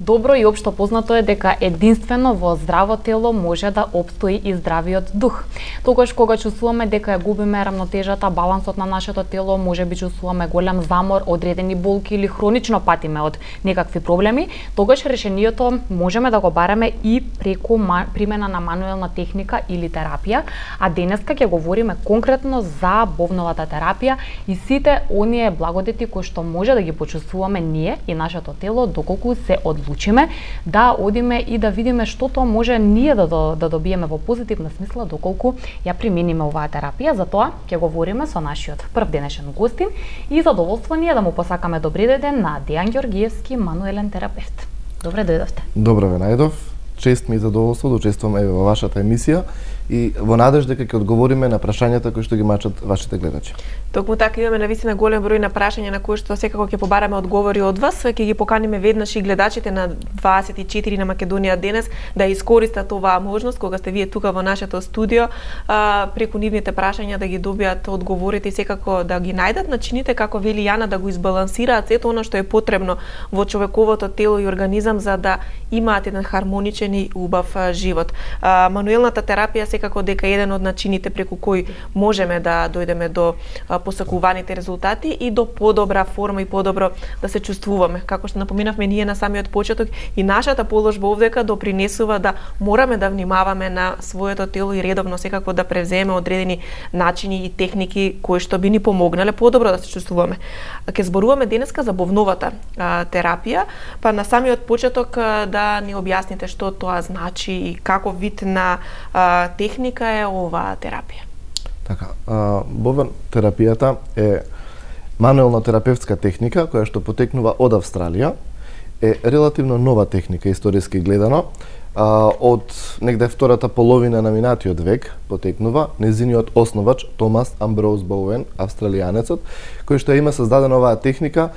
Добро и општо познато е дека единствено во здраво тело може да опстои и здравиот дух. Тогаш кога чувствуваме дека ја губиме рамнотежата, балансот на нашето тело, можеби чувствуваме голем замор, одредени болки или хронично патиме од некакви проблеми, тогаш решението можеме да го бараме и преку примена на мануелна техника или терапија, а денеска ќе говориме конкретно за бовновата терапија и сите оние благодети кои што може да ги почувствуваме ние и нашето тело доколку се одлучиме да одиме и да видиме што тоа може ние да добиеме во позитивна смисла доколку ја примениме оваа терапија. Затоа ќе говориме со нашиот прв денешен гостин и задоволство ни е да му посакаме добри ден на Дејан Ѓоргиевски, мануелен терапевт. Добре дојдовте. Добро ве најдов. Чест ми и задоволство да учествувам во вашата емисија и во надежда дека ќе одговориме на прашањата кои што ги мачат вашите гледачи. Токму така имаме навистина голем број на прашања на кои што секако ќе побараме одговори од вас. Ќе ги поканиме веднаш и гледачите на 24 на Македонија денес да искористат оваа можност кога сте вие тука во нашето студио, преку нивните прашања да ги добијат одговорите и секако да ги најдат начините како вели Јана да го избалансираат сето она што е потребно во човековото тело и организам за да имаат еден хармоничен и убав живот. Мануелната терапија секако дека е еден од начините преку кои можеме да дојдеме до посакуваните резултати и до подобра форма и подобро да се чувствуваме. Како што напоминавме ние на самиот почеток, и нашата положба овдека допринесува да мораме да внимаваме на своето тело и редовно секако да превземе одредени начини и техники кои што би ни помогнале подобро да се чувствуваме. Ќе зборуваме денеска за бовновата терапија, па на самиот почеток да ни објасните што тоа значи и како вид на техника е оваа терапија. Така, бовен терапијата е мануелна терапевтска техника која што потекнува од Австралија. Е релативно нова техника историски гледано. Од негде втората половина на минатиот век потекнува незиниот основач Томас Амброуз Боуен, австралијанецот, кој што има создадена оваа техника,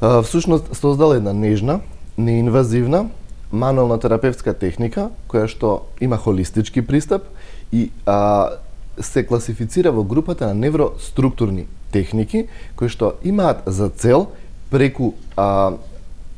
всушност создал една нежна, неинвазивна мануелна терапевтска техника која што има холистички пристап и се класифицира во групата на невроструктурни техники кои што имаат за цел преку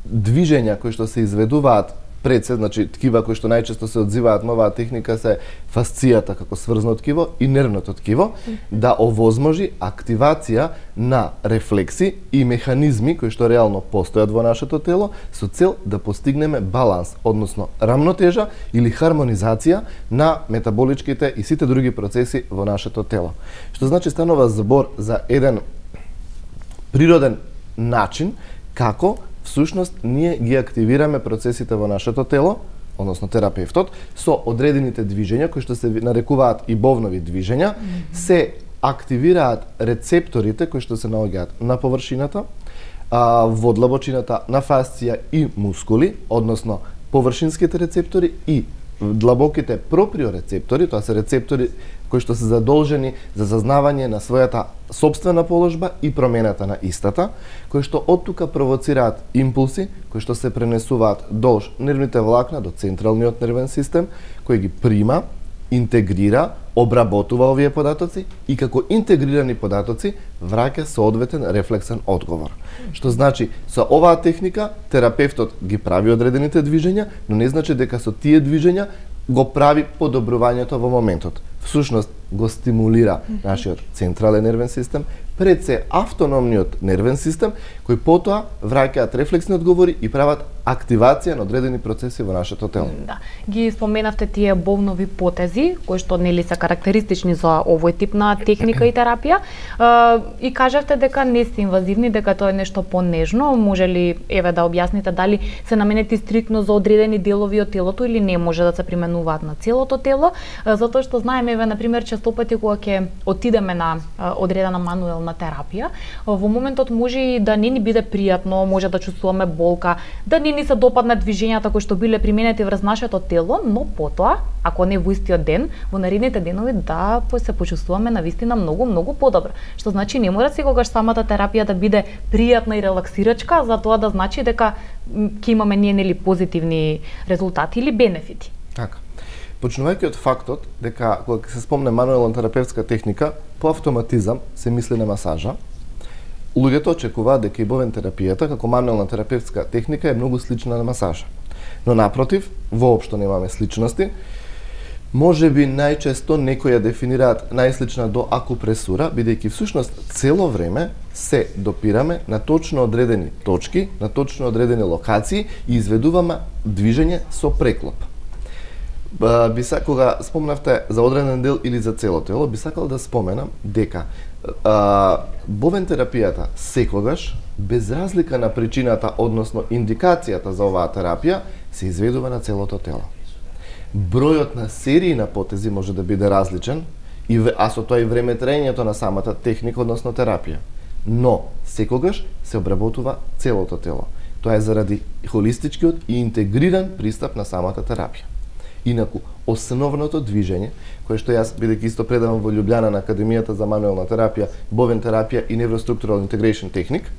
движења кои што се изведуваат пред се, значи ткива кои што најчесто се одзиваат на оваа техника се фасцијата како сврзно ткиво и нервното ткиво, да овозможи активација на рефлекси и механизми кои што реално постојат во нашето тело со цел да постигнеме баланс, односно рамнотежа или хармонизација на метаболичките и сите други процеси во нашето тело. Што значи станува збор за еден природен начин како всушност ние ги активираме процесите во нашето тело, односно терапевтот, со одредените движења кои што се нарекуваат и бовнови движења, се активираат рецепторите кои што се наоѓаат на површината, во длабочината на фасција и мускули, односно површинските рецептори и длабоките проприорецептори, тоа се рецептори кои што се задолжени за зазнавање на својата сопствена положба и промената на истата, кои што оттука провоцираат импулси, кои што се пренесуваат долж нервните влакна до централниот нервен систем, кој ги прима, интегрира, обработува овие податоци и како интегрирани податоци враќа соодветен рефлексен одговор. Што значи, со оваа техника терапевтот ги прави одредените движења, но не значи дека со тие движења го прави подобрувањето во моментот. Всушност го стимулира нашиот централен нервен систем, пред се автономниот нервен систем, кој потоа враќаат рефлексни одговори и прават активација на одредени процеси во нашето тело. Да. Ги споменавте тие бовнови потези, кои што нели се карактеристични за овој тип на техника и терапија, и кажавте дека не се инвазивни, дека тоа е нешто понежно. Може ли еве да објасните дали се наменети стриктно за одредени делови од телото или не може да се применуваат на целото тело? Затоа што знаеме еве на пример често пати кога ќе отидеме на одредена мануелна терапија, во моментот може и да не ни биде пријатно, може да чувствуваме болка, да не ни се допадна движењата кои што биле применети врз нашето тело, но потоа, ако не во истиот ден, во наредните денови да се почувствуваме навистина многу подобро. Што значи не мора секогаш самата терапија да биде пријатна и релаксирачка, за тоа да значи дека ќе имаме ние нели позитивни резултати или бенефити. Така. Почнувајќи од фактот дека кога се спомне мануелна терапевтска техника, по автоматизам се мисли на масажа, луѓето очекуваат дека и бовен терапијата како мануелна терапевтска техника е многу слична на масажа. Но напротив, воопшто немаме сличности. Може би најчесто некои ја дефинираат најслична до акупресура, бидејќи всушност цело време се допираме на точно одредени точки, на точно одредени локации и изведуваме движење со преклоп. Кога спомнавте за одреден дел или за цело тело, би сакал да споменам дека бовен терапијата секогаш, без разлика на причината, односно индикацијата за оваа терапија, се изведува на целото тело. Бројот на серии на потези може да биде различен, а со тоа и времетраењето на самата техника, односно терапија. Но, секогаш се обработува целото тело. Тоа е заради холистичкиот и интегриран пристап на самата терапија. Инаку, основното движење, кое што јас, бидејќи исто предавам во Љубљана на Академијата за мануелна терапија, бовен терапија и невроструктурал интегрейшн техник,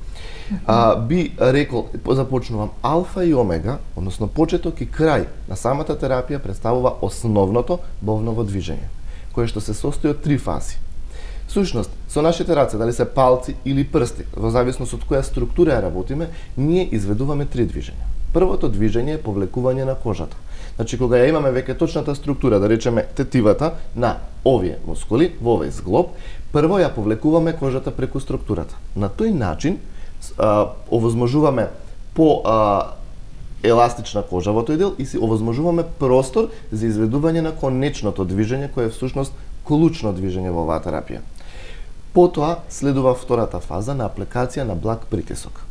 би рекол, започнувам, алфа и омега, односно почеток и крај на самата терапија представува основното бовново движење, кое што се состои од 3 фази. Сушност, со нашите раце, дали се палци или прсти, во зависност од која структура ја работиме, ние изведуваме 3 движења. Првото движење е повлекување на кожата. Значи, кога ја имаме веќе точната структура, да речеме тетивата на овие мускули, во овој зглоб, прво ја повлекуваме кожата преку структурата. На тој начин овозможуваме по еластична кожа во тој дел и си овозможуваме простор за изведување на конечното движење, кое е всушност клучно движење во оваа терапија. Потоа следува втората фаза на апликација на благ притисок.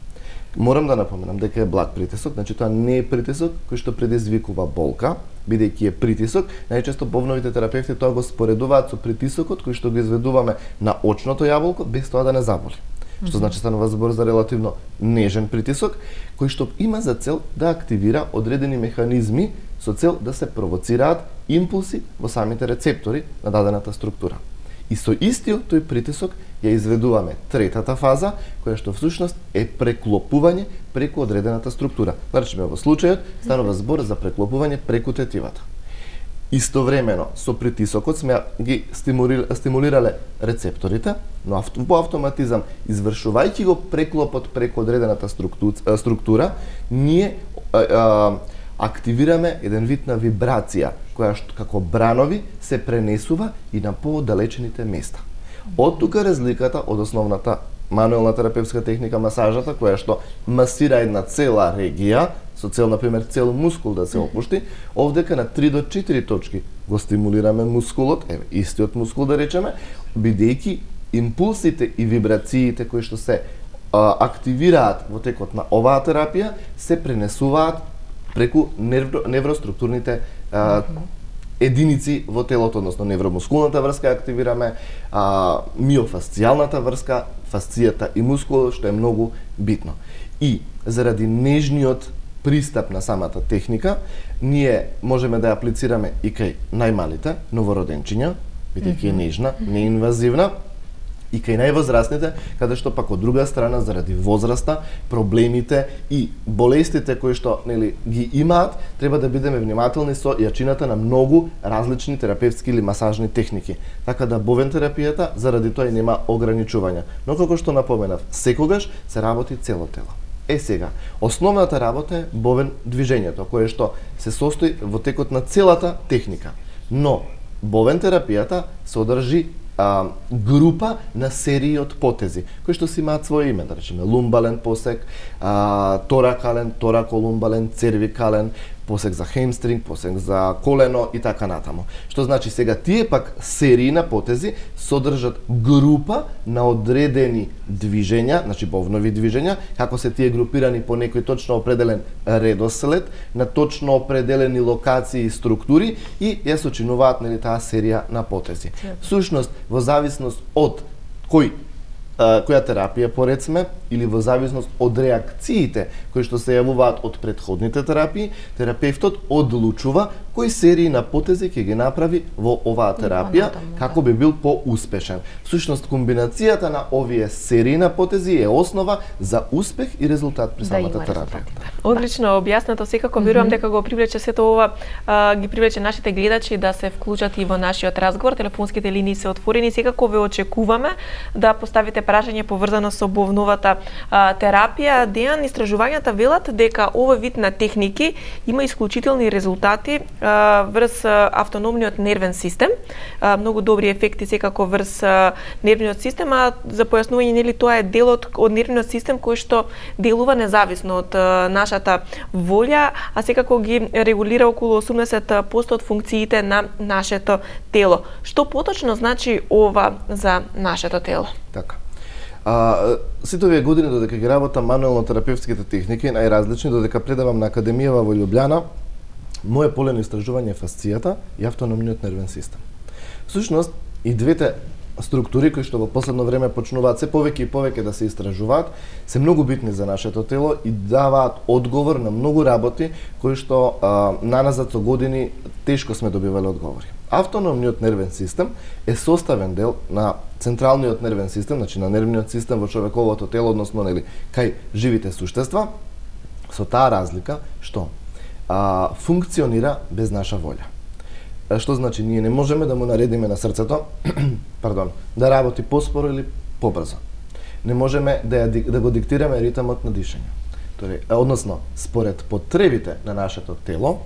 Морам да напоменам дека е благ притисок, значи тоа не е притисок кој што предизвикува болка, бидејќи е притисок, најчесто бовновите терапевти тоа го споредуваат со притисокот кој што го изведуваме на очното јаболко без тоа да не заболи. Што значи станува збор за релативно нежен притисок, кој што има за цел да активира одредени механизми со цел да се провоцираат импулси во самите рецептори на дадената структура. И со истиот тој притисок ја изведуваме третата фаза, која што всушност е преклопување преку одредената структура. Значи, во случајот станува збор за преклопување преку тетивата. Истовремено со притисокот сме ги стимулирале рецепторите, но по автоматизам, извршувајќи го преклопот преку одредената структура, ние активираме еден вид на вибрација, која што како бранови се пренесува и на поодалечените места. Од тука разликата од основната мануелна терапевтска техника масажата, која што масира една цела регија, со цел, например, цел мускул да се опушти, овдека на 3 до 4 точки го стимулираме мускулот, истиот мускул да речеме, бидејќи импулсите и вибрациите кои што се активираат во текот на оваа терапија се пренесуваат преку невроструктурните единици во телото, односно невромускулната врска активираме, миофасцијалната врска, фасцијата и мускул, што е многу битно. И заради нежниот пристап на самата техника, ние можеме да ја аплицираме и кај најмалите новороденчиња, бидејќи е нежна, неинвазивна, и кај највозрастните, каде што пак од друга страна заради возраста, проблемите и болестите кои што ги имаат, треба да бидеме внимателни со јачината на многу различни терапевтски или масажни техники. Така да бовен терапијата заради тоа и нема ограничувања. Но како што напоменав, секогаш се работи цело тело. Сега, основната работа е бовен движењето, кое што се состои во текот на целата техника. Но бовен терапијата содржи група на серии од потези, кои што си имаат своје име, да речеме лумбален посек, торакален, тораколумбален, цервикален, посек за хемстринг, посек за колено и така натаму. Што значи сега тие пак серии на потези содржат група на одредени движења, значи бовнови движења, како се тие групирани по некој точно определен редослед, на точно определени локации и структури и ја сочинуваат таа серија на потези. Всушност, во зависност од која терапија поред сме, или во зависност од реакциите кои што се јавуваат од претходните терапии, терапевтот одлучува кои серии на потези ќе ги направи во оваа терапија како би бил поуспешен. Всушност комбинацијата на овие серии на потези е основа за успех и резултат при самата терапија. Одлично објаснато, секако верувам дека го привлече сето ова, ги привлече нашите гледачи да се вклучат и во нашиот разговор. Телефонските линии се отворени, секако ве очекуваме да поставите прашање поврзано со бовновата терапија. Дејан, истражувањата велат дека овој вид на техники има исклучителни резултати врз автономниот нервен систем, многу добри ефекти секако врз нервниот систем, а за појаснување нели тоа е делот од нервниот систем кој што делува независно од нашата волја, а секако ги регулира околу 80% од функциите на нашето тело. Што поточно значи ова за нашето тело? Така. Сите овие години додека ги работам мануелно-терапевтските техники, најразлични, додека предавам на Академијава во Љубљана, моје поле на истражување е фасцијата и автономниот нервен систем. Всушност, и двете структури кои што во последно време почнуваат се повеќе и повеќе да се истражуваат, се многу битни за нашето тело и даваат одговор на многу работи кои што наназад со години тешко сме добивале одговори. Автономниот нервен систем е составен дел на централниот нервен систем, значи на нервниот систем во човековото тело, односно нели кај живите суштества, со таа разлика што функционира без наша волја. Што значи ние не можеме да му наредиме на срцето, да работи поспоро или побрзо. Не можеме да го диктираме ритмот на дишење. Односно, според потребите на нашето тело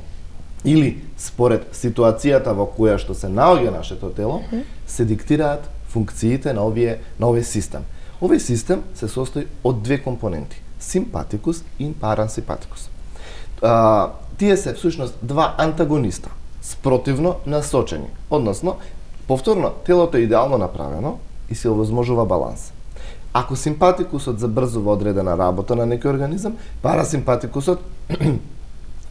или според ситуацијата во која што се наоѓа нашето тело, се диктираат функциите на овој систем. Овој систем се состои од две компоненти: симпатикус и парасимпатикус. Тие се всушност два антагониста, спротивно насочени. Односно, повторно, телото е идеално направено и се овозможува баланс. Ако симпатикусот забрзува одредена работа на некој организам, парасимпатикусот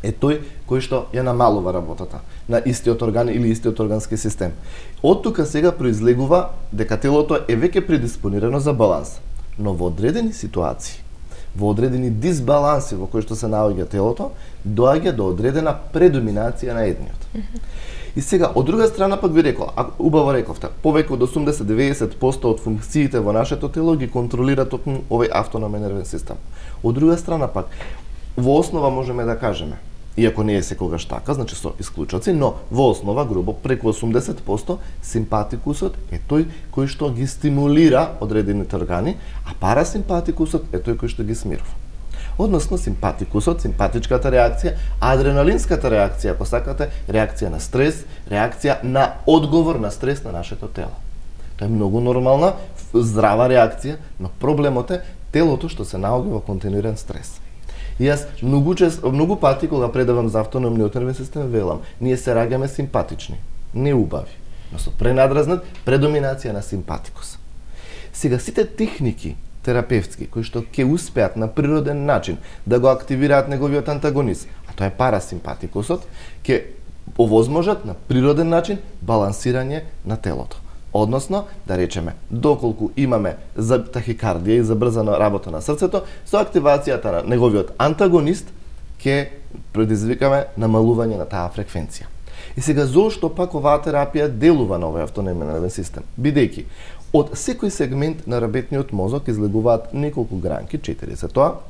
е тој кој што ја намалува работата на истиот орган или истиот органски систем. Од тука сега произлегува дека телото е веќе предиспонирано за баланс, но во одредени ситуации, во одредени дисбаланси во кои што се наоѓа телото, доаѓа до одредена предоминација на едниот. И сега, од друга страна пак ви рекол, убаво рековте, повеќе од 80-90% од функциите во нашето тело ги контролира токму овој автономен нервен систем. Од друга страна пак, во основа можеме да кажеме, иако не е секогаш така, значи со исклучоци, но во основа, грубо, преку 80% симпатикусот е тој кој што ги стимулира одредените органи, а парасимпатикусот е тој кој што ги смирува. Односно, симпатикусот, симпатичката реакција, адреналинската реакција, ако сакате, реакција на стрес, реакција на одговор на стрес на нашето тело. Тоа е многу нормална, здрава реакција, но проблемот е телото што се наоѓа во континуиран стрес. И јас многу пати кога предавам за автономниот нервен систем велам, ние се раѓаме симпатични, не убави, но со пренадразнат предоминација на симпатикус. Сега сите техники терапевтски кои што ќе успеат на природен начин да го активираат неговиот антагонист, а тоа е парасимпатикусот, ќе овозможат на природен начин балансирање на телото. Односно, да речеме, доколку имаме за тахикардија и забрзана работа на срцето, со активацијата на неговиот антагонист ќе предизвикаме намалување на таа фреквенција. И сега, зошто пак оваа терапија делува на овој автономен нервен систем? Бидејќи, од секој сегмент на работниот мозок излегуваат неколку гранки, 4 се тоа,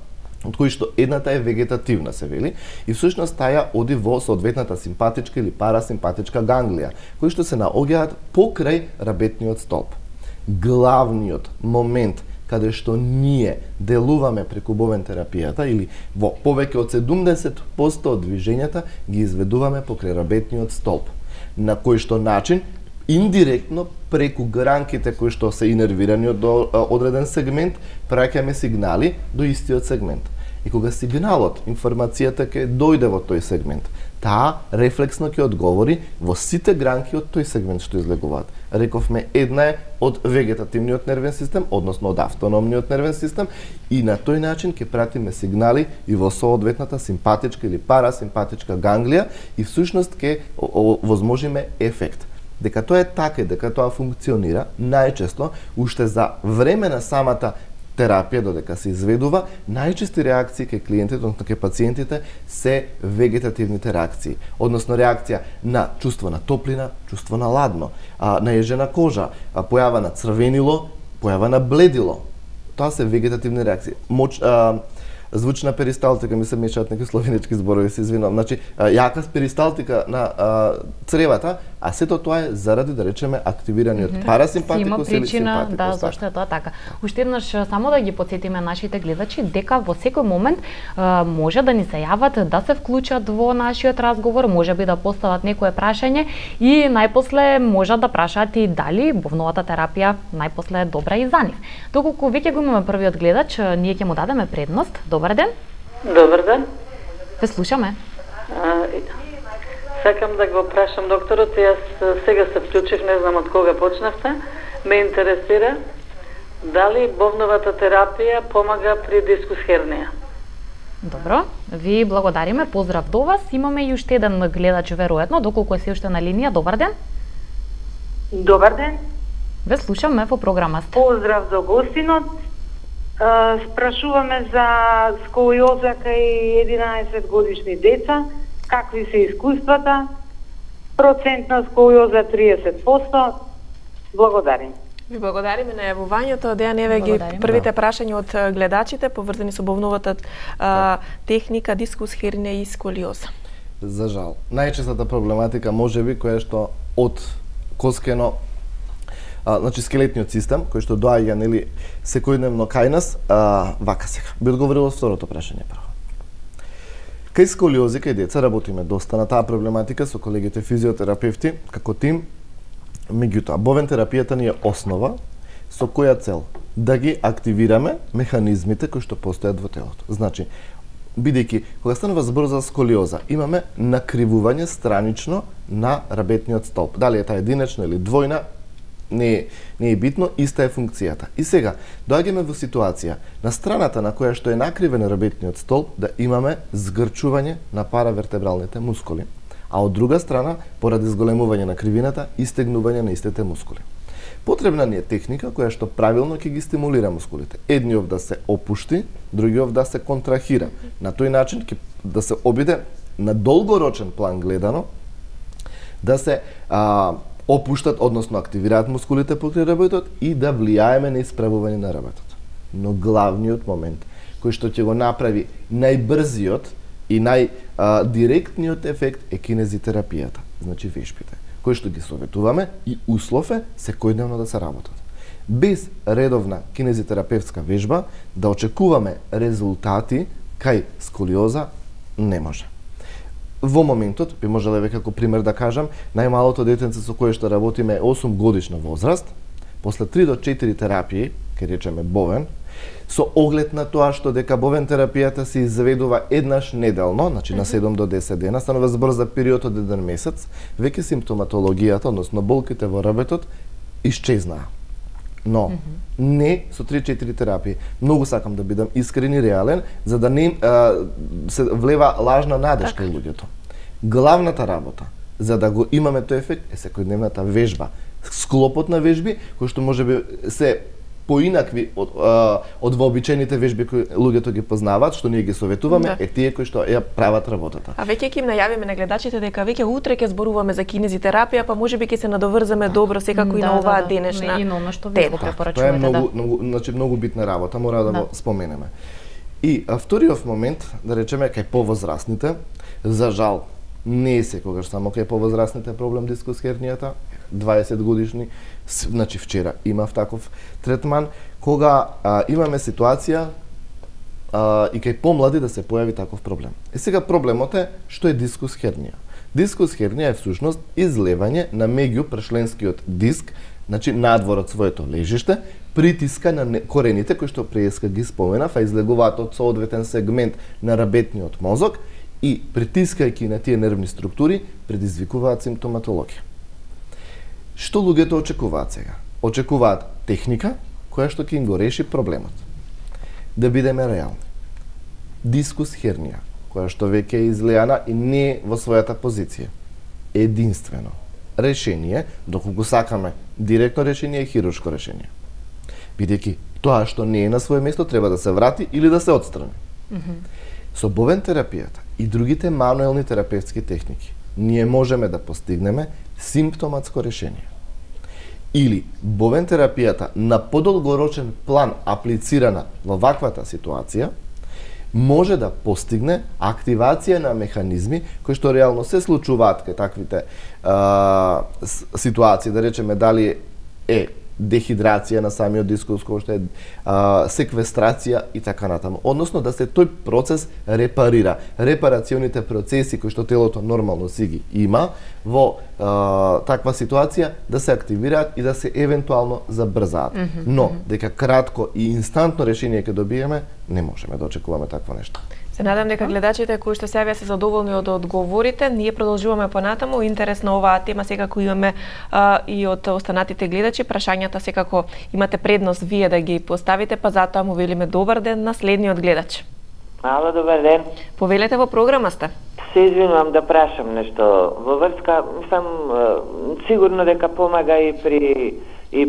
од кои што едната е вегетативна, се вели, и всушност таја оди во соодветната симпатичка или парасимпатичка ганглија, кои што се наоѓаат покрај работниот столб. Главниот момент каде што ние делуваме преку бовен терапијата или во повеќе од 70% од движењата ги изведуваме покрај работниот столб. На кој што начин индиректно преку гранките кои што се инервирани од одреден сегмент, праќаме сигнали до истиот сегмент. И кога сигналот, информацијата ќе дојде во тој сегмент, таа рефлексно ќе одговори во сите гранки од тој сегмент што излегуваат. Рековме, една е од вегетативниот нервен систем, односно од автономниот нервен систем, и на тој начин ќе пратиме сигнали и во соодветната симпатичка или парасимпатичка ганглија и всушност ќе возможиме ефект. Дека тоа е така и дека тоа функционира, најчесто, уште за време на самата терапија додека се изведува, најчести реакции кај клиентите, односно кај пациентите се вегетативните реакции, односно реакција на чувство на топлина, чувство на ладно, наежена кожа, појава на црвенило, појава на бледило. Тоа се вегетативни реакции. Звучна перисталтика, ми се мешаат некои словенички зборови, се извинувам. Значи, јака перисталтика на цревата, а сето тоа е заради, да речеме, активираниот парасимпатикус или симпатикус. Да, зашто е тоа така. Уште еднаш само да ги потсетиме нашите гледачи дека во секој момент може да ни се јават, да се вклучат во нашиот разговор, можеби да постават некое прашање и најпосле можат да прашаат и дали бовновата терапија најпосле е добра и за нив. Доколку веќе го имаме првиот гледач, ние ќе му дадеме предност. Добар ден. Добар ден. Ве слушаме. Сакам да го прашам докторот, јас сега се вклучив, не знам од кога почнавте. Ме интересира дали бовновата терапија помага при дискус хернија. Добро, ви благодариме, поздрав до вас. Имаме и уште еден гледач веројатно, доколку е се уште на линија. Добар ден. Добар ден. Ве слушаме, во програма сте. Поздрав до гостинот. Спрашуваме за сколиоза кај 11 годишни деца, какви се искуствата, процент на сколиоза 30%. Благодарим. Ви благодариме на јавувањето. Дејан, еве ги првите прашања од гледачите поврзани со бовновата техника, дискус хернија и сколиоза. За жал. Најчестата проблематика можеби која што од коскено значи скелетниот систем кој што доаѓа нели секојдневно кај нас, вака сега. Би одговорил второто прашање прво. Кај сколиози, кај деца работиме доста на таа проблематика со колегите физиотерапевти како тим. Меѓутоа, бовен терапијата ни е основа со која цел да ги активираме механизмите кои што постојат во телото. Значи, бидејќи кога станува збор за сколиоза, имаме накривување странично на рабетниот столб. Дали е таа единечна или двојна, не е битно, иста е функцијата. И сега, доаѓаме во ситуација на страната на која што е накривен рабетниот столб да имаме згрчување на паравертебралните мускули, а од друга страна, поради зголемување на кривината, истегнување на истите мускули. Потребна ни е техника која што правилно ќе ги стимулира мускулите. Едниот да се опушти, другиот да се контрахира. На тој начин ќе да се обиде на долгорочен план гледано, да се опуштат, односно активираат мускулите покрај работот и да влијаеме на исправување на работот. Но главниот момент кој што ќе го направи најбрзиот и најдиректниот ефект е кинезитерапијата, значи вежбите, кои што ги советуваме и услов е секојдневно да се работат. Без редовна кинезитерапевтска вежба да очекуваме резултати кај сколиоза не може. Во моментот, би можеле веќе како пример да кажам, најмалото детенце со кое што работиме е 8 годишна возраст, после 3 до 4 терапии, ке речеме бовен, со оглед на тоа што дека бовен терапијата се изведува еднаш неделно, значи на 7 до 10 дена, станува збор за период од 1 месец, веќе симптоматологијата, односно болките во рабетот, исчезнаа. Но, не со 3-4 терапии. Многу сакам да бидам искрен и реален, за да не се влева лажна надеж кај луѓето. Главната работа, за да го имаме тој ефект, е секојдневната вежба. Склопот на вежби, кои што можеби се поинакви од вообичаените вежби кои луѓето ги познаваат, што ние ги советуваме, е тие кои што ја прават работата. А веќе ќе им најавиме на гледачите дека веќе утре ќе зборуваме за кинезитерапија, па можеби ќе се надоврземе добро секако и на оваа денешна и на она што ви го препорачувате. Тоа е значи многу битна работа, мора да го споменеме. И вториот момент, да речеме кај повозрастните, за жал не е секогаш само кај повозрастните проблем дискус хернијата, 20 годишни, значи вчера имав таков третман, кога имаме ситуација и кај помлади да се појави таков проблем. И сега проблемот е што е дискус хернија. Дискус хернија е всушност излевање на меѓупршленскиот диск, значи надвор од своето лежиште, притиска на корените кои што преска ги споменав, а излегуваат од соодветен сегмент на рабетниот мозок и притискајќи на тие нервни структури предизвикуваат симптоматологија. Што луѓето очекуваат сега? Очекуваат техника која што ќе им го реши проблемот. Да бидеме реални. Дискус хернија, која што веќе е излеана и не во својата позиција. Единствено решение, доколку сакаме директно решение, е хируршко решение. Бидејќи Тоа што не е на свое место треба да се врати или да се отстрани. Со бовен терапијата и другите мануелни терапевтски техники ние можеме да постигнеме симптоматско решение. Или бовен терапијата на подолгорочен план аплицирана во ваквата ситуација може да постигне активација на механизми кои што реално се случуваат кај таквите ситуации, да речеме дали е дехидрација на самиот дискус, кој што е секвестрација и така натаму. Односно да се тој процес репарира. Репарационите процеси кои што телото нормално си ги има во таква ситуација да се активираат и да се евентуално забрзаат. Но дека кратко и инстантно решение ќе добиеме, не можеме да очекуваме такво нешто. Се надам дека гледачите кои што се јавија се задоволни од одговорите. Ние продолжуваме понатаму. Интересна оваа тема секако имаме и од останатите гледачи. Прашањата секако имате предност вие да ги поставите, па затоа му велиме добар ден на следниот гледач. Ало, добар ден. Повелете, во програма сте. Се извинувам да прашам нешто во врска, сам сигурно дека помага и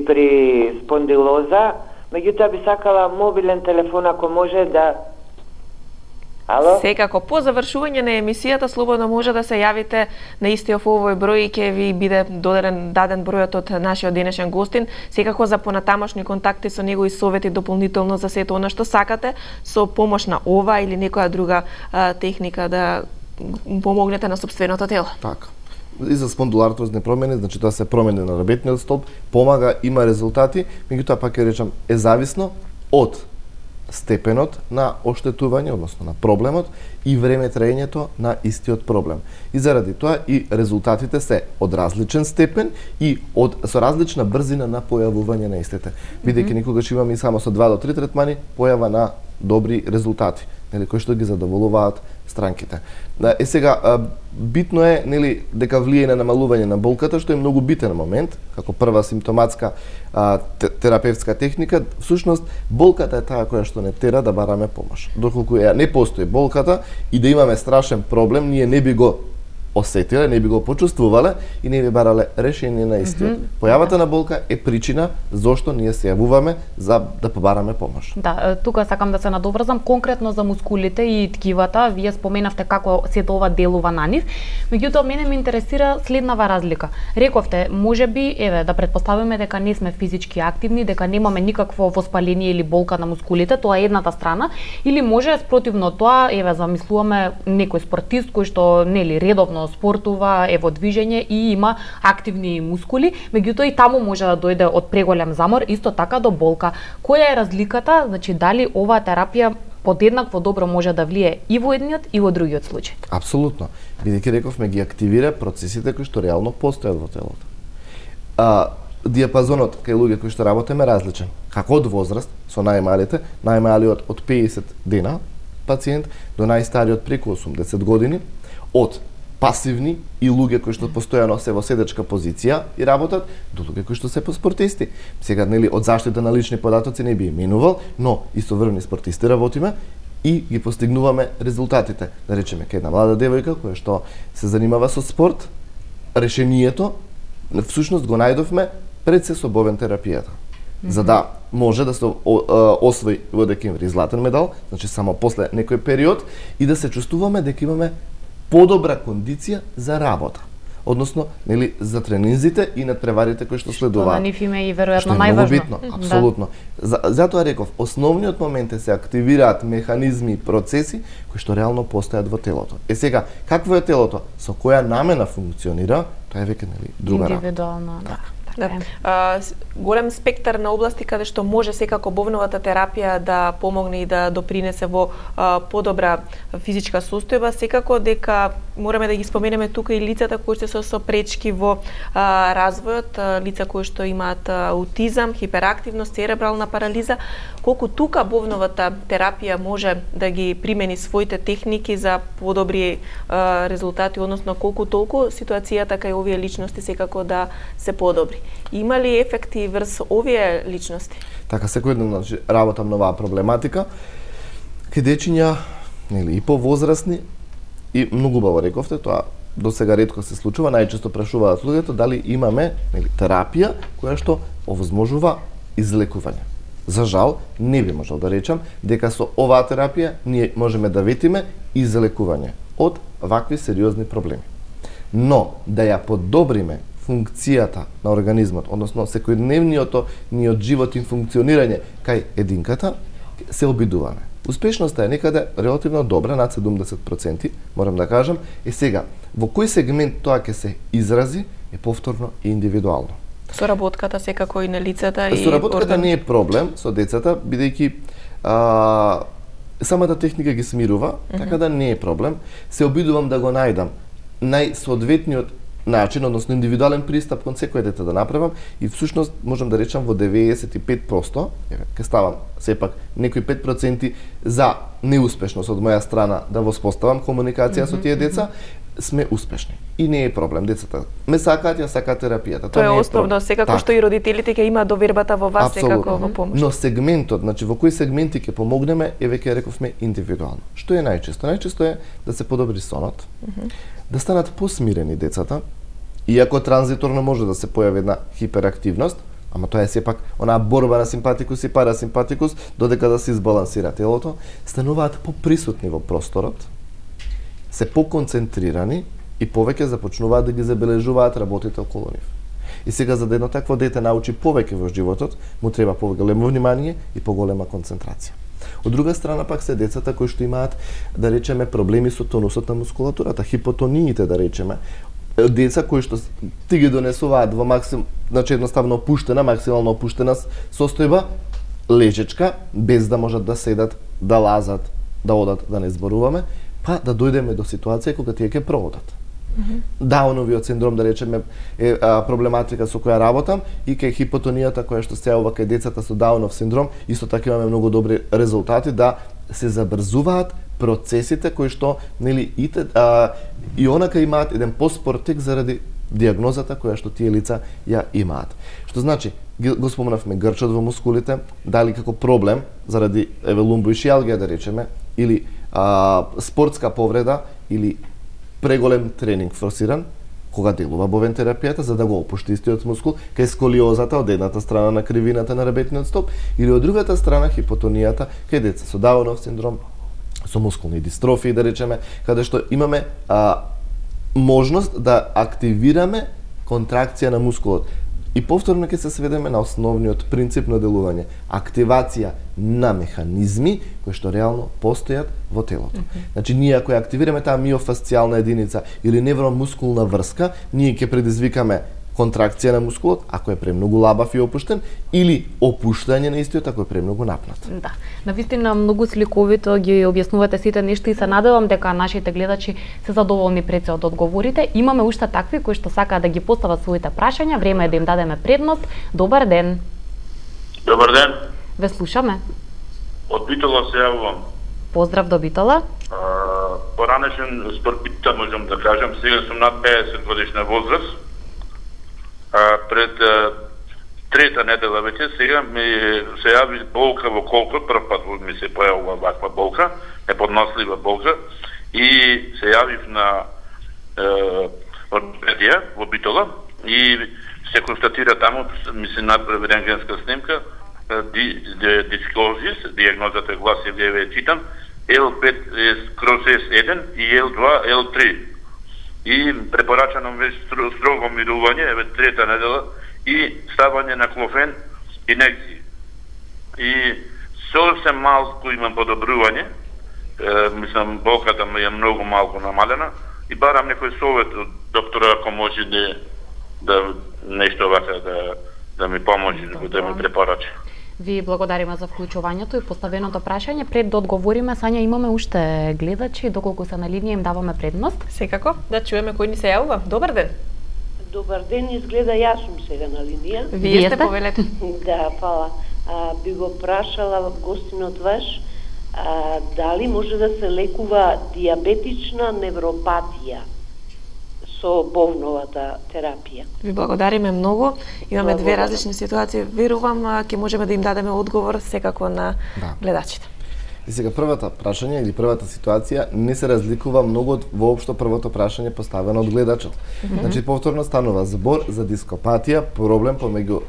при спондилоза, меѓутоа би сакала мобилен телефон ако може да. Ало? Секако по завршување на емисијата слободно може да се јавите на истиот овој број и ќе ви биде даден бројот од нашиот денешен гостин. Секако за понатамошни контакти со него и совети дополнително за сето она што сакате со помош на ова или некоја друга техника да помогнете на сопственото тело. Така. И за спондилартрозни промени, значи тоа се промени на рабетниот столб, помага, има резултати, меѓутоа пак ќе речам е зависно од степенот на оштетување, односно на проблемот и време траењето на истиот проблем. И заради тоа и резултатите се од различен степен и со различна брзина на појавување на истите. Бидејќи никогаш имаме и само со 2 до 3 третмани појава на добри резултати, нели, кои што ги задоволуваат странките. Сега битно е, нели, дека влијае на намалување на болката, што е многу битен момент, како прва симптоматска терапевтска техника. Всушност болката е таа која што не тера да бараме помош. Доколку не постои болката и да имаме страшен проблем, ние не би го осетиле, не би го почувствувале и не би барале решение на истиот. Појавата на болка е причина зошто ние се јавуваме за да побараме помош. Да, тука сакам да се надобрзам конкретно за мускулите и ткивата. Вие споменавте како сето ова делува на нив. Меѓутоа мене ме интересира следнава разлика. Рековте, можеби, еве, да претпоставиме дека не сме физички активни, дека немаме никакво воспаление или болка на мускулите, тоа е едната страна, или може спротивно тоа, еве, замислуваме некој спортист кој што нели редовно спортува, е во движење и има активни мускули, меѓутоа и таму може да дојде од преголем замор, исто така до болка. Која е разликата? Значи дали оваа терапија подеднакво добро може да влие и во едниот и во другиот случај? Апсолутно. Бидејќи рековме ги активира процесите кои што реално постојат во телото. Диапазонот кај луѓе кои што работиме различен. Како од возраст со најмалиот од 50 дена пациент до најстариот преку 80 години, од пасивни и луѓе кои што постојано се во седечка позиција и работат, до луѓе кои што се спортисти. Сега, нели, од заштита на лични податоци не би именувал, но истовремено спортисти работиме и ги постигнуваме резултатите. Да речеме, кај една млада девојка која што се занимава со спорт, решението всушност го најдовме пред се со бовен терапијата. За да може да се освои во декември златен медал, значи само после некој период, и да се чувствуваме дека имаме подобра кондиција за работа. Односно, нели, за тренинзите и надпреварите кои што следуваат. Што на нив има и веројатно Што најважно. е многу битно, апсолутно. Затоа реков, основниот момент е се активираат механизми и процеси кои што реално постојат во телото. Сега, какво е телото? Со која намена функционира, тоа е веќе, нели, друга работа. Индивидуално, да. Голем спектар на области каде што може секако бовновата терапија да помогне и да допринесе во подобра физичка состојба, секако дека мораме да ги споменеме тука и лицата кои се со пречки во развојот, лица кои што имаат аутизам, хиперактивност, церебрална парализа, колку тука бовновата терапија може да ги примени своите техники за подобри резултати, односно колку толку ситуацијата кај овие личности секако да се подобри. Има ли ефекти врз овие личности? Така, секој ден, значи, работам на оваа проблематика. Кај дечиња, нели, и повозрасни, и многу убаво рековте, тоа до сега ретко се случува, најчесто прашуваат луѓето дали имаме, нели, терапија која што овозможува излекување. За жал, не би можел да речам дека со оваа терапија ние можеме да ветиме излекување од вакви сериозни проблеми. Но да ја подобриме функцијата на организмот, односно секојдневниот ниот живот и функционирање кај единката, се обидуваме. Успешноста е некаде релативно добра, над 70%, морам да кажам, и сега, во кој сегмент тоа ќе се изрази, е повторно и индивидуално. Соработката секако и на лицата и Соработката не е проблем со децата, бидејќи самата техника ги смирува, така да не е проблем. Се обидувам да го најдам најсоодветниот начин, односно индивидуален пристап кон секој дете да направам и всушност можам да речам во 95%, ќе ставам сепак некои 5% за неуспешност од моја страна да воспоставам комуникација со тие деца, сме успешни. И не е проблем, децата ме сакаат, ја сакаат терапијата. Тоа е основно, секако што и родителите ќе имаат довербата во вас, секако во помош. Но сегментот, значи во кои сегменти ќе помогнеме, веќе рековме индивидуално. Што е најчесто? Најчесто е да се подобри сонот, да станат посмирени децата, иако транзиторно може да се појави една хиперактивност, ама тоа е сепак онаа борба на симпатикус и парасимпатикус, додека да се избалансира телото, стануваат поприсутни во просторот, се поконцентрирани и повеќе започнуваат да ги забележуваат работите околу нив. И сега за да едно такво дете научи повеќе во животот, му треба поголемо внимание и поголема концентрација. Од друга страна пак се децата кои што имаат, да речеме, проблеми со тонусот на мускулатурата, хипотониите, да речеме, деца кои што ти ги донесуваат во значи едноставно опуштена, максимално опуштена состојба, лежечка, без да можат да седат, да лазат, да одат, да не зборуваме, па да дојдеме до ситуација кога тие ќе проодат. Дауновиот синдром, да речеме, е проблематика со која работам и кај хипотонијата која што се јавува кај децата со Даунов синдром, исто така имаме многу добри резултати да се забрзуваат процесите кои што и онака имаат еден поспор тек заради диагнозата која што тие лица ја имаат. Што значи, го спомнавме грчот во мускулите, дали како проблем заради лумбоишијалгија, да речеме, или спортска повреда или преголем тренинг форсиран, кога делува бовен терапијата за да го опушти истиот мускул, кај сколиозата од едната страна на кривината на ребетниот стоп или од другата страна хипотонијата кај деца со Даунов синдром, со мускулни дистрофии, да речеме, каде што имаме можност да активираме контракција на мускулот. И повторно ќе се сведеме на основниот принцип на делување, активација на механизми кои што реално постојат во телото. Значи ние ако ја активираме таа миофасцијална единица или невромускулна врска, ние ќе предизвикаме контракција на мускулот ако е премногу лабав и опуштен или опуштање на истиот ако е премногу напнат. Да, навистина многу сликовито ги објаснувате сите нешта и се надевам дека нашите гледачи се задоволни пред се од одговорите. Имаме уште такви кои што сакаат да ги постават своите прашања, време е да им дадеме предност. Добар ден. Добар ден. Ве слушаме. Од Битола се јавувам. Поздрав до Битола. Поранешен спортиста можам да кажам, сега сум над 50 годишна возраст. Пред трета недела веќе сега ми се јави болка во колкот, прв пат ми се појавува ваква болка, неподнослива болка, и се јавив на ортопедија во Битола и се констатира таму, ми се направи рентгенска снимка, дискозис, диагнозата гласи, вие читам, L5/S1 и L2, L3. И препорачано веќе строго мирување, еве трета недела, и ставање на клофен инекции. И совсем малку имам подобрување, мислам болката ми е многу малку намалена и барам некој совет од доктора ако може да нешто вака да ми поможе, да ми препорача. Ви благодариме за вклучувањето и поставеното прашање. Пред да одговориме, Сања, имаме уште гледачи, доколку се на линија им даваме предност. Секако, да чуеме кој ни се јавува. Добар ден. Добар ден, изгледа јас сум сега на линија. Вие сте, повелете. Да, фала. Би го прашала гостинот ваш, дали може да се лекува диабетична невропатија со бовновата терапија. Ви благодариме многу. Имаме две различни ситуации. Верувам ќе можеме да им дадеме одговор секако на гледачите. И сега првата прашање или првата ситуација не се разликува многу од воопшто првото прашање поставено од гледачот. Значи повторно станува збор за дископатија, проблем помеѓу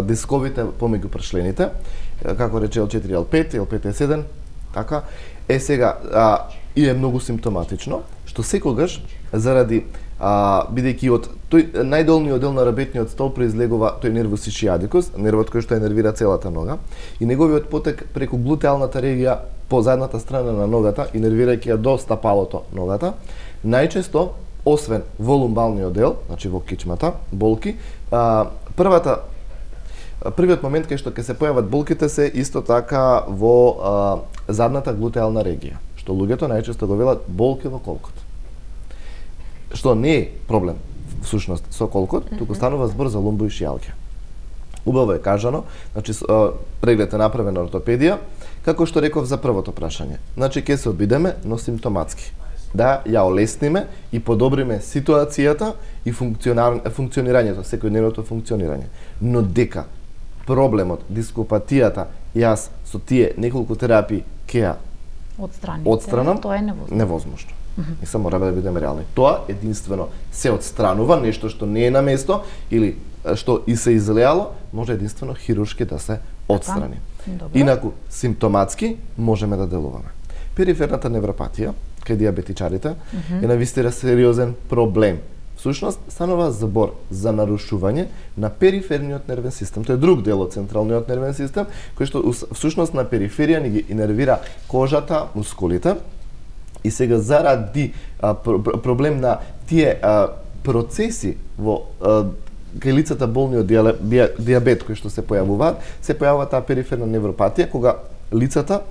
дисковите помеѓу пршлените, како рече L4 L5, L5 L7, така. Сега и е многу симптоматично, што секогаш заради бидејќи од тој најдолниот дел на рабетниот стол произлегува тој нервус ишиадикус, нервот кој што ја нервира целата нога, и неговиот потек преку глутеалната регија по задната страна на ногата и нервирајќи ја до стапалото ногата, најчесто освен во лумбалниот дел, значи во кичмата, болки, првиот момент кај што ќе се појават болките се исто така во задната глутеална регија, што луѓето најчесто го велат болки во колкот. Што не е проблем всушност со колкот, туку станува збор за лумбоишијалгија. Убаво е кажано, значи преглед е направен на ортопедија, како што реков за првото прашање. Значи ќе се обидеме, но симптоматски. Да ја олесниме и подобриме ситуацијата и функционирањето, секојдневното функционирање. Но дека проблемот, дископатијата, јас со тие неколку терапии ќе ја отстранам, тоа е невозможно. И само треба да бидеме реални. Тоа единствено се отстранува, нешто што не е на место или што и се излеало, може единствено хируршки да се отстрани. Инаку симптоматски можеме да делуваме. Периферната невропатија кај диабетичарите е навистина сериозен проблем. Всушност станува збор за нарушување на периферниот нервен систем. Тоа е друг дел од централниот нервен систем, кој што всушност на периферија ни ги инервира кожата, мускулите. И сега заради проблем на тие процеси во кај лицата болни од диабет кои што се појавуваат таа периферна невропатија кога лицата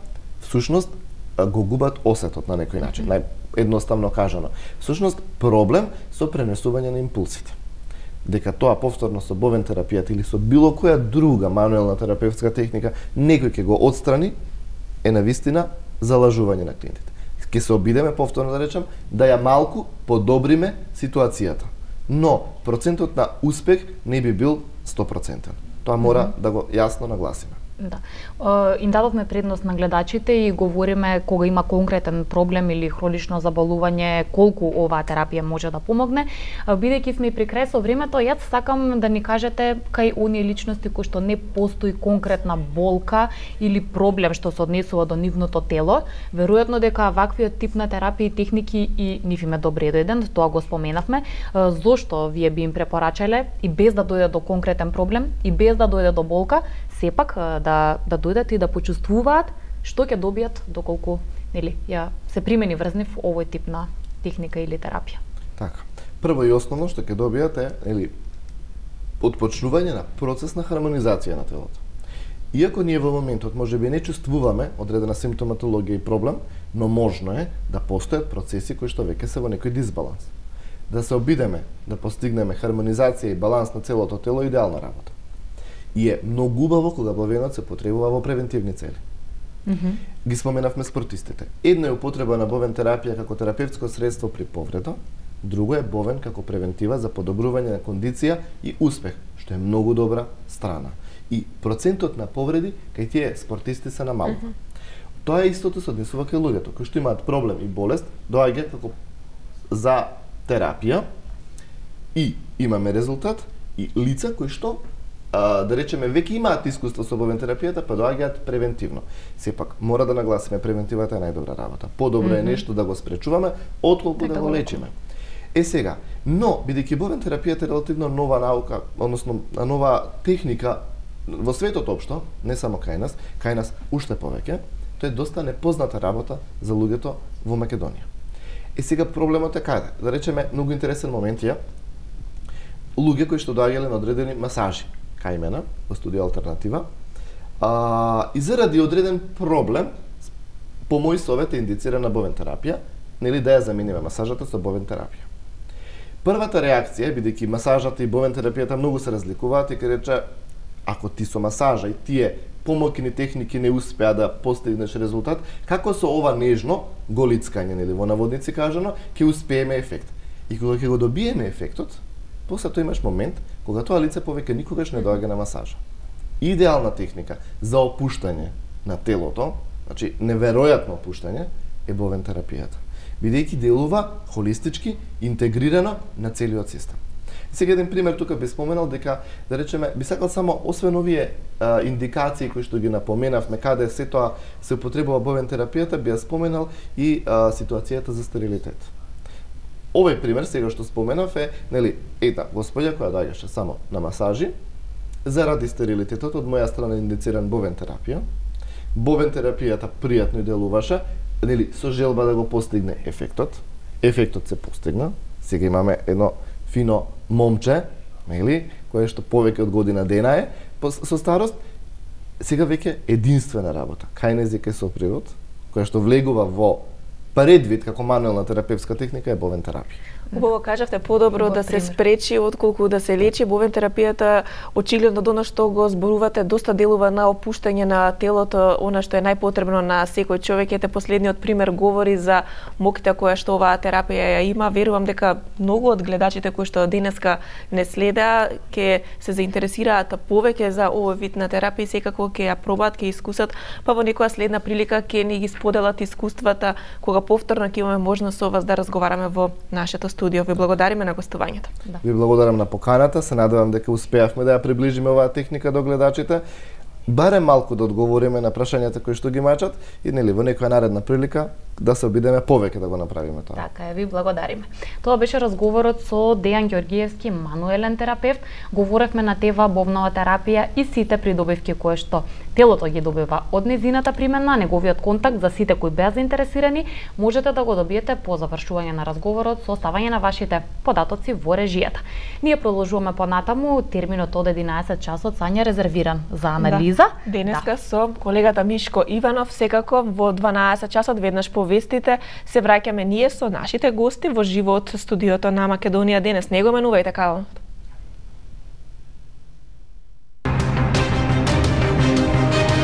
всушност го губат осетот на некој начин, наједноставно кажано. Всушност проблем со пренесување на импулсите. Дека тоа повторно со бовен терапијата или со било која друга мануелна терапевтска техника некој ќе го отстрани е навистина залажување на клиентите. Ќе се обидеме, повторно да речам, да ја малку подобриме ситуацијата. Но процентот на успех не би бил 100%. Тоа мора да го јасно нагласиме. Да. Им дадовме предност на гледачите и говориме кога има конкретен проблем или хронично заболување, колку оваа терапија може да помогне. Бидејќи сме при крај со времето, јас сакам да ни кажете кај оние личности кои што не постои конкретна болка или проблем што се однесува до нивното тело, веројатно дека ваквиот тип на терапија и техники и нив им е добредојден, тоа го споменавме. Зошто вие би им препорачале и без да дојде до конкретен проблем и без да дојде до болка, сепак да дојдат и да почувствуваат што ќе добијат доколку ја се примени врз нив овој тип на техника или терапија. Така. Прво и основно што ќе добијат е отпочнување на процес на хармонизација на телото. Иако ние во моментот можеби не чувствуваме одредена симптоматологија и проблем, но можно е да постојат процеси кои што веќе се во некој дисбаланс. Да се обидеме да постигнеме хармонизација и баланс на целото тело е идеална работа. И е многу убаво кога бовенот се потребува во превентивни цели. Ги споменавме спортистите. Едно е употреба на бовен терапија како терапевтско средство при повреда, друго е бовен како превентива за подобрување на кондиција и успех, што е многу добра страна. И процентот на повреди кај тие спортисти се намалува. Тоа е истото се однесува кај луѓето кои што имаат проблем и болест, доаѓаат како за терапија и имаме резултат и лица кои што да речеме веќе имаат искуство со бовен терапијата, па доаѓаат превентивно. Сепак мора да нагласиме превентивата е најдобра работа. Подобро е нешто да го спречуваме отколку да го лечиме. Сега, но бидејќи бовен терапијата е релативно нова наука, односно нова техника во светот општо, не само кај нас уште повеќе, тоа е доста непозната работа за луѓето во Македонија. Сега проблемот е каде? Да речеме многу интересен момент е луѓе кои што доаѓале на одредени масажи кај мене во студија Алтернатива, и заради одреден проблем, по мој совет е индицирана бовен терапија, нели да ја замениме масажата со бовен терапија. Првата реакција, бидејќи масажата и бовен терапијата многу се разликуваат, и ќе рече, ако ти со масажа и тие помоќни техники не успеа да постигнеш резултат, како со ова нежно голицкање, нели во наводници кажано, ќе успееме ефект. И кога ќе го добиеме ефектот, после тоа имаш момент кога тоа лице повеќе никогаш не доаѓа на масажа. Идеална техника за опуштање на телото значи неверојатно опуштање е бовен терапијата, бидејќи делува холистички, интегрирано на целиот систем. Сега еден пример тука би споменал дека, да речеме, би сакал само, освен овие индикации кои што ги напоменавме, каде се тоа се употребува бовен терапијата, би ја споменал и ситуацијата за стерилитет. Овој пример сега што споменав е, нели, една господја која доаѓаше само на масажи, заради стерилитетот од моја страна индициран бовен терапија. Бовен терапијата пријатно делуваше, нели, со желба да го постигне ефектот. Ефектот се постигна. Сега имаме едно фино момче, нели, кое што повеќе од година дена е со старост. Сега веќе единствена работа, кајнезик е сопривод, која што влегува во предвид како мануелна терапевтска техника е бовен терапија. Убаво кажавте, подобро да се спречи отколку да се лечи. Бовен терапијата очигледно до што го зборувате доста делува на опуштање на телото, она што е најпотребно на секој човек. Ете последниот пример говори за моките која што оваа терапија ја има. Верувам дека многу од гледачите кои што денеска не следа ќе се заинтересираат повеќе за овој вид на терапија, секако ќе ја пробаат, ќе искусат, па во некоја следна прилика ќе ни ги споделат искуствата кога повторно ќе имаме можност со вас да разговараме во нашето студио. Ви благодариме на гостувањето. Да. Ви благодарам на поканата, се надевам дека успеавме да ја приближиме оваа техника до гледачите, барем малку да одговориме на прашањата кои што ги мачат и нели во некоја наредна прилика да се обидеме повеќе да го направиме тоа. Така е, ви благодариме. Тоа беше разговорот со Дејан Ѓоргиевски, мануелен терапевт. Говоревме на тема бовнова терапија и сите придобивки кои што телото ги добива од нејзината примена, неговиот контакт. За сите кои беа заинтересирани, можете да го добиете по завршување на разговорот со оставање на вашите податоци во режијата. Ние продолжуваме понатаму, терминот од 11 часот Сања резервиран за анализа. Да. Денеска со колегата Мишко Иванов, секако во 12 часот веднаш по вестите се враќаме ние со нашите гости во живо од студиото на Македонија денес. Не го менувајте, Као.